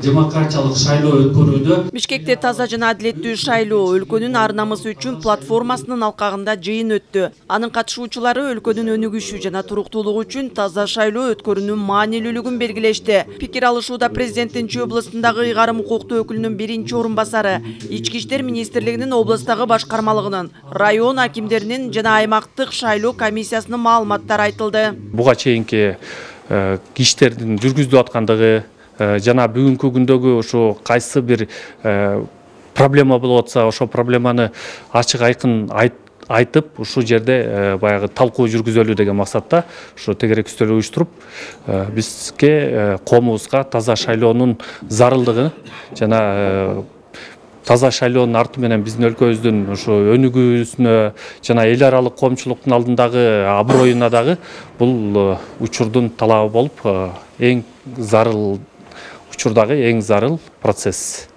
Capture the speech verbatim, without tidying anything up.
демократиялык шайлоо өткөрүүдө. Бишкекте таза жана адилеттүү шайлоо өлкөнүн ар намысы үчүн платформасынын алкагында жыйын өттү. Анын катышуучулары өлкөнүн өнүгүшү жана туруктуулугу үчүн таза шайлоо өткөрүүнүн маанилүүлүгүн белгилешти. Пикир алышууда президенттин Чүй областындагы ыйгарым укуктуу өкүлүнүн биринчи орун басары, Ички иштер министрлигинин областагы башкармалыгынын, район акимдеринин жана аймактык шайлоо комиссиясынын маалыматтары айтылды. Буга чейинки иштердин жүргүзүлүп аткандыгы жана бүгүнкү күндөгү ошо кайсы бир проблема болуп атса, ошо проблеманы ачык айкын айтып, ушул жерде баягы талкуу жүргүзөлү деген максатта ошо тегерек үстөл уюштуруп, бизге коомубузга таза шайлоонун зарылдыгы жана таза шайлоонун арты менен биздин өлкөбүздүн ошо өнүгүүсүнө жана эл аралык коомчулуктун алдындагы аброюна дагы бул учурдун талабы болуп, эң зарыл учурдагы эң зарыл процесс.